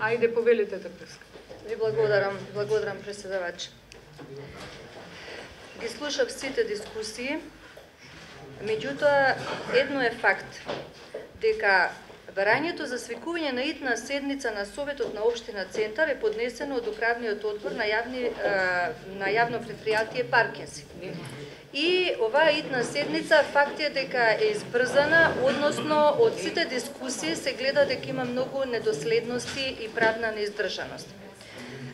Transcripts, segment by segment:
Ајде, повелите Трпевска. Ви благодарам преседавач. Ги слушав сите дискусии, меѓутоа едно е факт, дека барањето за свикување на итна седница на Советот на Општина Центар е поднесено од Управниот одбор на јавно предпријатие Паркинзи. И оваа итна седница факт е дека е избрзана, односно од сите дискусии се гледа дека има многу недоследности и правна неиздржаност.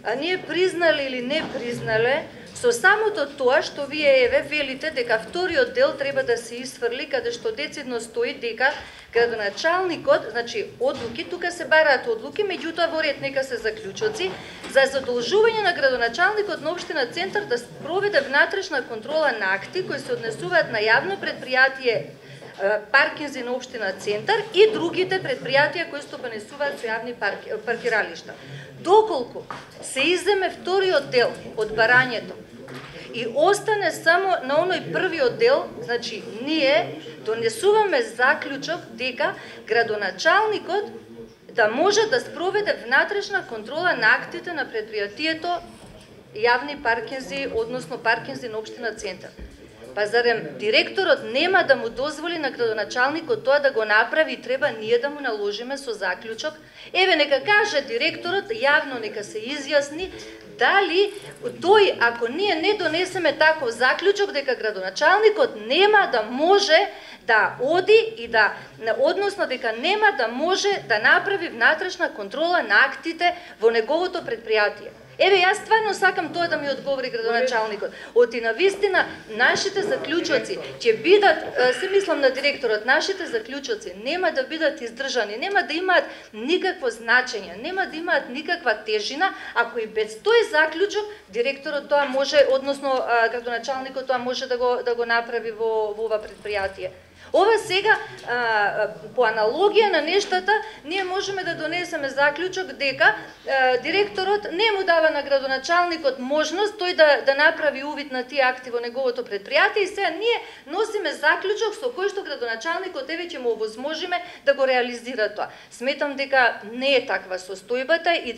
А ние признале или не признале, со самото тоа што вие велите дека вториот дел треба да се исфрли, каде што децидно стои дека градоначалникот, значи одлуки, тука се бараат одлуки, меѓутоа во ред нека се заклучоци, за задолжување на градоначалникот на Општина Центар да проведе внатрешна контрола на акти кои се однесуваат на јавно предпријатие Паркинзи на Општина Центар и другите предпријатија кои стопанисуваат со јавни паркиралишта. Доколку се иземе вториот дел од барањето и остане само на оној првиот дел, значи ние донесуваме заклучок дека градоначалникот да може да спроведе внатрешна контрола на актите на предпријатието јавни паркинзи, односно паркинзи на Општина Центар. Па зарем директорот нема да му дозволи на градоначалникот тоа да го направи и треба ние да му наложиме со заклучок? Еве, нека каже директорот, јавно нека се изјасни, дали тој, ако ние не донесеме таков заклучок, дека градоначалникот нема да може да оди и да, односно дека нема да може да направи внатрешна контрола на актите во неговото предпријатие. Еве, јас стварно сакам тоа да ми одговори градоначалникот. Оти на вистина, нашите заклучоци ќе бидат, се мислам на директорот, нашите заклучоци нема да бидат издржани, нема да имаат никакво значење, нема да имаат никаква тежина, ако и без тој заклучок директорот тоа може, односно градоначалникот тоа може да го направи во ова предпријатие. Ова сега, по аналогија на нештата, ние можеме да донесеме заклучок дека директорот не му дава на градоначалникот можност тој да направи увид на тие акти во неговото предпријатие и сега ние носиме заклучок со кој што градоначалникот еве ќе му овозможиме да го реализира тоа. Сметам дека не е таква состојбата и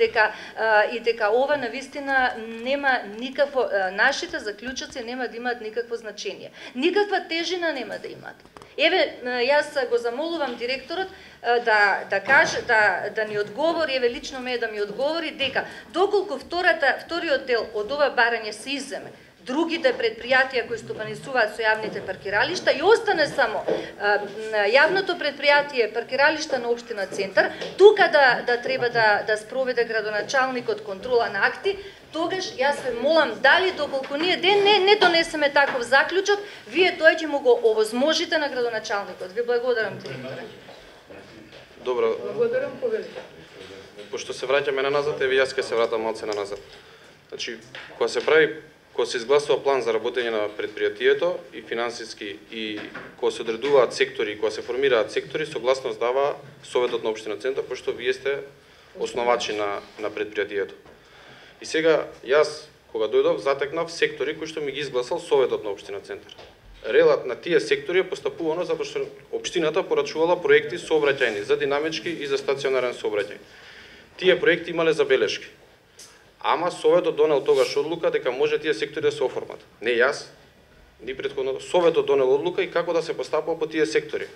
дека ова навистина нема никакво, нашите заклучоци нема да имаат никакво значење. Никаква тежина нема да имаат. Еве, јас го замолувам директорот да каже, да ни одговори, еве лично ме да ми одговори дека доколку вториот дел од ова барање се иземе, другите предпријатија кои стопанисуваат со јавните паркиралишта и остане само јавното предпријатие паркиралишта на Општина Центар, тука да треба да спроведе градоначалникот контрола на акти, тогаш јас ве молам дали доколку ние не донесеме таков заклучок, вие тоа ќе му го овозможите на градоначалникот. Ви благодарам, директоре. Добро. Благодарам, повелите. Пошто се враќаме на назад, еве јас ќе се вратам малце на назад. Значи, кога се изгласува план за работење на предпријатието и финансиски и кога се одредуваат сектори, кога се формираат сектори, согласност дава Советот на Општина Центар, пошто вие сте основачи на предпријатието. И сега, јас, кога дојдов, затекнав сектори кои што ми ги изгласал Советот на Општина Центар. Релат на тие сектори е постапувано затоа што Општината порачувала проекти сообраќајни за динамички и за стационарен сообраќај. Тие проекти имале забелешки. Ама Советот донел тогаш одлука дека може тие сектори да се оформат. Не јас, ни претходно, Советот донел одлука и како да се постапува по тие сектори.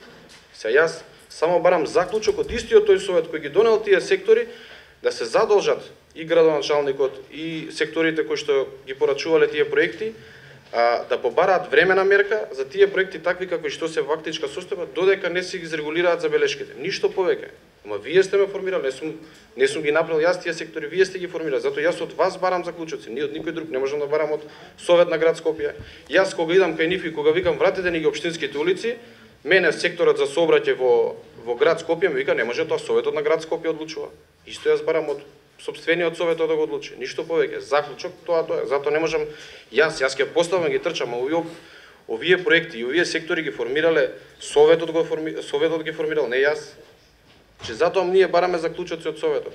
Се јас само барам заклучок од истиот тој Совет кој ги донел тие сектори да се задолжат и градоначалникот и секторите кои што ги порачувале тие проекти да побараат времена мерка за тие проекти такви како што се фактичка состојба додека не се изрегулираат забелешките. Ништо повеќе. Ама вие сте ме формирали, не сум ги направил јас тие сектори, вие сте ги формирали. Затоа јас од вас барам заклучоци, не од никој друг, не можам да барам од Совет на град Скопје. Јас кога идам кај нив и кога викам вратете ни ги општинските улици, мене секторот за сообраќај во град Скопје ми вика не може тоа Советот на град Скопје одлучува. Исто јас барам од сопствениот Советот да го одлучи. Ништо повеќе. Заклучок тоа е. Затоа не можам јас ќе поставам ги трчам, а овие проекти и овие сектори ги формирале Советот ги формирал, не јас. Че затоа ние бараме заклучоци од Советот.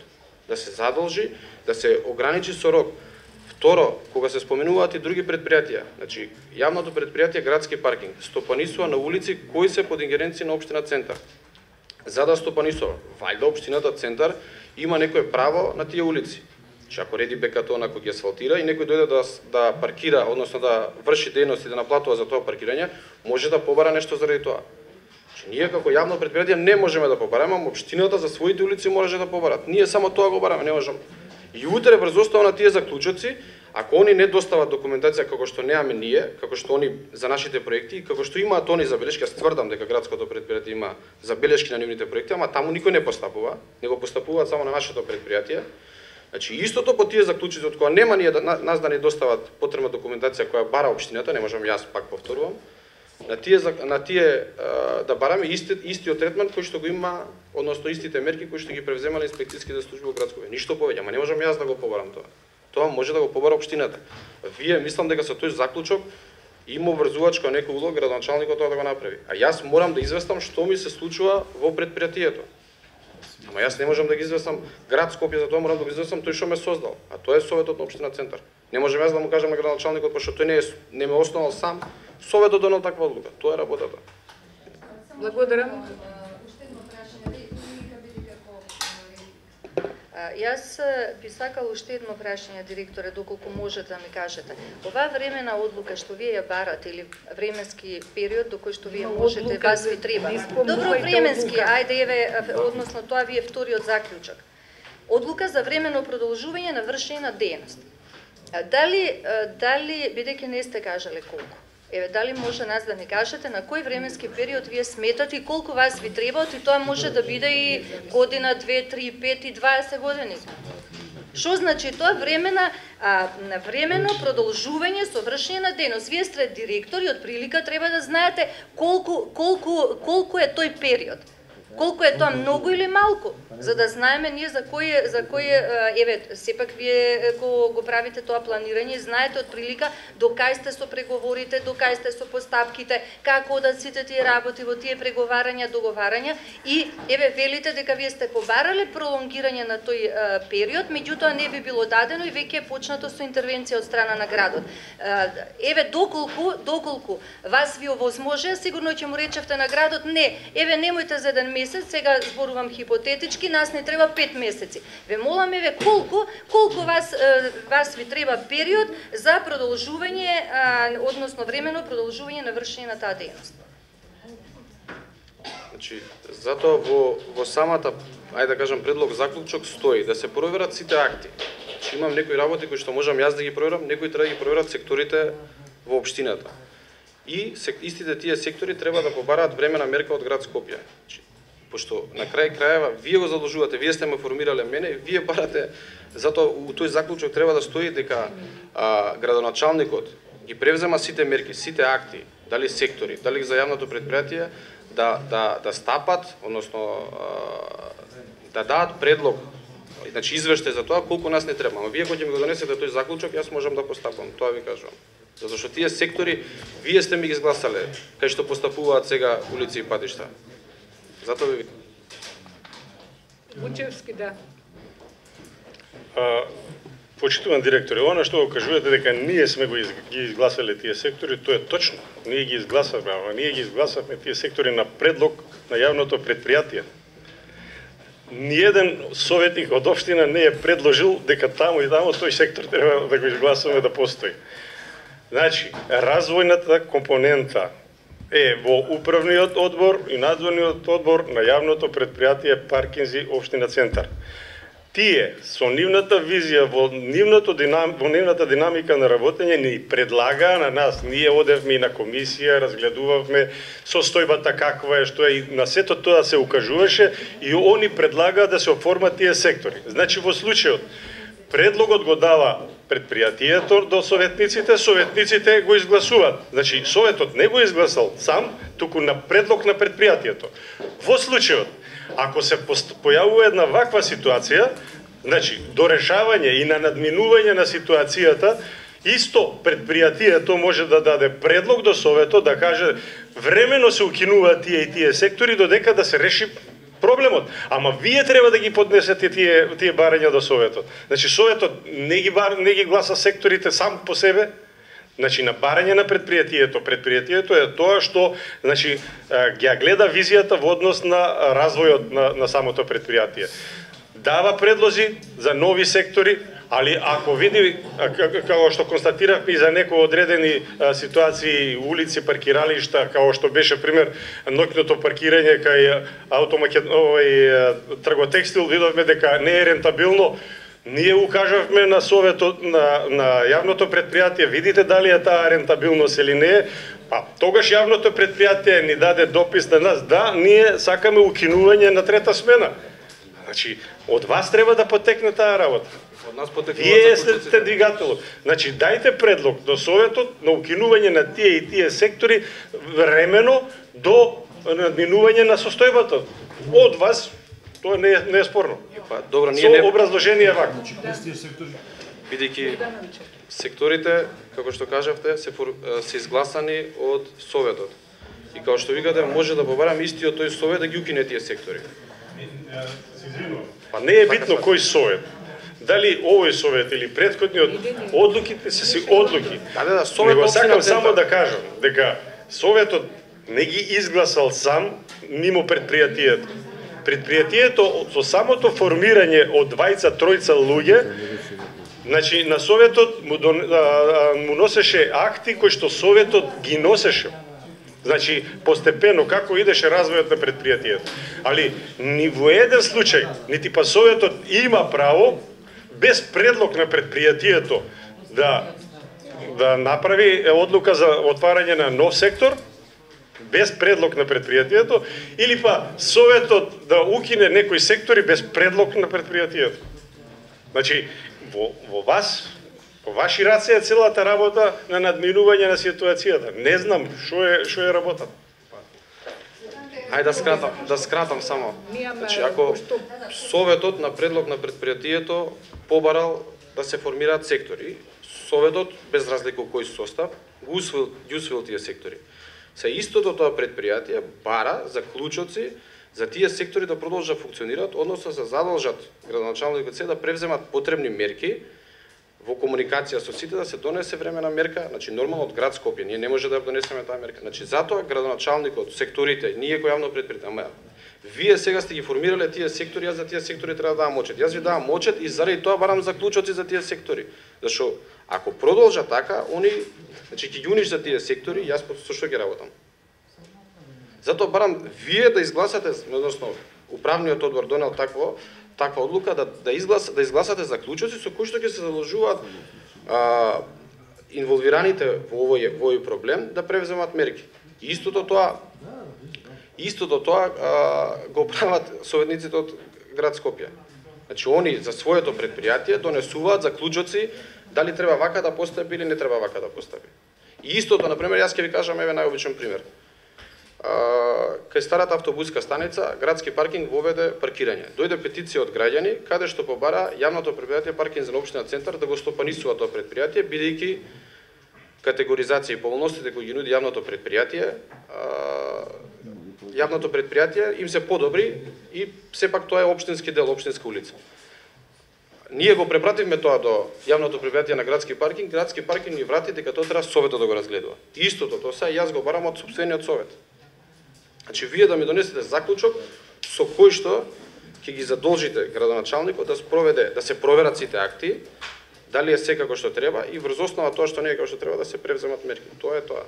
Да се задолжи, да се ограничи со рок. Второ, кога се споменуваат и други предпријатија, значи јавното предпријатие градски паркинг стопанисува на улици кои се под ингеренција на Општина Центар. за да стопанисува. Вајда општината Центар има некое право на тие улици. Че ако реди бекатон, ако ги асфалтира и некој дојде да паркира, односно да врши дејност и да наплатува за тоа паркирање, може да побара нешто заради тоа. Че ние како јавно предпријатие не можеме да побараме, а општината за своите улици може да побарат. Ние само тоа го бараме, не можеме. И утре врз основа на тие заклучоци, ако они не достават документација како што немаме ние, како што они за нашите проекти и како што имаат они забелешки, јас тврдам дека градското предпријатие има забелешки на нивните проекти, ама таму никој не постапува, него постапуваат само на нашето предпријатие. Значи истото по тие заклучоци од кога нема ние нас да ни достават потребна документација која бара општината, не можам јас пак повторувам. На тие да бараме истиот третман кој што го има, односно истите мерки кои што ги превземале инспекцијските служби во градско. Ништо повеќе, ама не можам јас да го побарам тоа. Тоа може да го побара општината. Вие мислам дека со тој заклучок има врзувачка некој улог градоначалникот тоа да го направи. А јас морам да известам што ми се случува во предпријатието. Ама јас не можам да ги известам град Скопје, за тоа морам да го известам тој што ме создал. А тоа е советот на општина Центар. Не можам јас да му кажам на градоначалникот пошто тој не ме основал сам, советот донел таква одлука. Тоа е работата. Благодарам. Јас би сакал уште едно прашање, директоре, доколку можете да ми кажете. Оваа времена одлука што вие ја барате или временски период до кој што вие можете, вас ви треба. Добро, временски, ајде еве, односно тоа ви е вториот заклучок. Одлука за времено продолжување на вршење на дејност. Дали бидејќи не сте кажале колку? Еве, дали може нас да ни кажете на кој временски период вие сметате и колку вас ви требаат, и тоа може да биде и година, 2, 3, 5 и 20 години. Што значи тоа времено продолжување со вршење на дејност? Вие сте директор и од прилика треба да знаете колку е тој период. Колку е тоа, многу или малку, за да знаеме ние за кој еве, сепак вие го правите тоа планирање и знаете од прилика до кај сте со преговорите, до кај сте со постапките, како одат сите тие работи во тие преговарања, договарања и еве велите дека вие сте побарале пролонгирање на тој период, меѓутоа не ви било дадено и веќе е почнато со интервенција од страна на градот. Еве доколку вас ви овозможува, сигурно ќе му речевте на градот не, еве немојте за еден месец, сега зборувам хипотетички, нас не треба 5 месеци. Ве молам еве колку вас ви треба период за продолжување, односно времено продолжување на вршење на таа дејност. Значи, затоа во самата, ајде да кажам, предлог заклучок стои да се проверат сите акти. Значи, имам некои работи кои што можам јас да ги проверам, некои треба да ги проверат секторите во општината. И истите тие сектори треба да побараат времена мерка од град Скопје. Значи, пошто на крај крајева вие го задолжувате, вие сте ме формирале мене, вие барате, затоа у тој заклучок треба да стои дека градоначалникот ги превзема сите мерки, сите акти, дали сектори, дали за јавното предпријатие да стапат, односно да дадат предлог, значи извештај за тоа колку нас не треба. Но вие кога ќе ми го донесете тој заклучок, јас можам да постапам, тоа ви кажувам. Затоа што тие сектори вие сте ми ги изгласале, кај што постапуваат сега улици и патишта. Затоа ви викам. Вучевски, да. Почитуван директоре, она што го кажувате дека ние сме ги изгласале тие сектори, тоа е точно. Ние ги изгласавме, ама ние ги изгласавме тие сектори на предлог на јавното предпријатие. Ниеден советник од општина не е предложил дека таму и таму тој сектор треба да го изгласуваме да постои. Значи, развојната компонента е во управниот одбор и надзорниот одбор на јавното предпријатие Паркинзи општина Центар. Тие со нивната визија во нивната динамика на работење ни предлагаа на нас. Ние одевме и на комисија, разгледувавме состојбата каква е, што е, и на сето тоа се укажуваше и они предлагаа да се оформат тие сектори. Значи во случајот предлогот го дава предпријатието до советниците, советниците го изгласуваат. Значи советот не го изгласал сам, туку на предлог на предпријатието. Во случајот ако се појавува една ваква ситуација, значи до решавање и на надминување на ситуацијата, исто предпријатието може да даде предлог до советот да каже времено се укинуваат тие и тие сектори додека да се реши проблемот. Ама вие треба да ги поднесете тие барања до советот. Значи советот не ги гласа секторите сам по себе, Значи на барање на предпријатието е тоа што значи ја гледа визијата во однос на развојот на самото предпријатие. Дава предлози за нови сектори, али ако види, како што констатиравме и за некои одредени ситуации, улици, паркиралишта, како што беше пример ноќното паркирање кај Трготекстил, видовме дека не е рентабилно. Ние укажавме на советот на јавното предпријатие, видите дали е таа рентабилност или не е, па тогаш јавното предпријатие ни даде допис на нас, да, ние сакаме укинување на трета смена. Значи, од вас треба да потекне таа работа. Од нас потекнува. Вие сте двигателот. Значи, дајте предлог до советот на укинување на тие и тие сектори времено до надминување на состојбата. Од вас тоа не е спорно. Па добро, ние Со не образложение вака. бидејќи секторите, како што кажавте, се изгласани од советот. И како што викате, може да побараме истиот тој совет да ги укине тие сектори. Па не е битно кој совет. Дали овој совет или претходниот, одлуките се си одлуки. Да, совет Него општина сакам Центар. само да кажам дека советот не ги изгласал сам мимо предпријатието. Предпријатието со самото формирање од двајца-тројца луѓе, значи на советот му носеше акти кои што советот ги носеше. Значи, постепено, како идеше развојот на предпријатието. Али, ни во еден случај, нити па советот има право, без предлог на предпријатието, да направи одлука за отварање на нов сектор, без предлог на предпријатието, или па советот да укине некои сектори без предлог на предпријатието. Значи, во вас, по ваши раце е целата работа на надминување на ситуацијата. Не знам што е работа. Ајде да скратам само. Значи, ако советот на предлог на предпријатието побарал да се формираат сектори, советот без разлика кој состав ги усвоил тие сектори. Се истото тоа предпријатие бара заклучоци за тие сектори да продолжат да функционираат, односно се задолжат градоначалникот се да превземат потребни мерки во комуникација со сите, да се донесе времена мерка, значи нормално од град Скопје, ние не може да донесеме таа мерка. Значи затоа градоначалникот, секторите, ние кој јавно предпријатие, ама вие сега сте ги формирале тие сектори, јас за тие сектори треба да давам очет. Јас ви давам очет и заради тоа барам заклучоци за тие сектори. Зашо ако продолжа така, они значи ќе ги уништат тие сектори, јас со што ќе работам. Затоа барам вие да изгласате, односно управниот одбор донел таква одлука да изгласате заклучоци со кои што ќе се задолжуваат инволвираните во овој проблем да превземат мерки. Истото тоа го прават советниците од град Скопје. Значи они за своето предпријатие донесуваат заклучоци дали треба вака да постапи или не треба вака да постапи. И истото, например, јас ќе ви кажам еве најобичен пример. Кај старата автобуска станица, градски паркинг воведе паркирање. Дојде петиција од граѓани каде што побара јавното предпријатие Паркинг за општина Центар да го стопанисува тоа предпријатие, бидејќи категоризација и поволностите кои ги нуди јавното предпријатие им се подобри и сепак тоа е општински дел, општинска улица. Ние го препративме тоа до јавното предпријатие на градски паркинг ни врати дека тоа треба советот да го разгледува. Истото тоа се јас го барам од сопствениот совет. Значи вие да ми донесете заклучок со кој што ќе ги задолжите градоначалникот да се проверат сите акти, дали е се како што треба и врз основа тоа што не е како што треба да се превземат мерки. Тоа е тоа.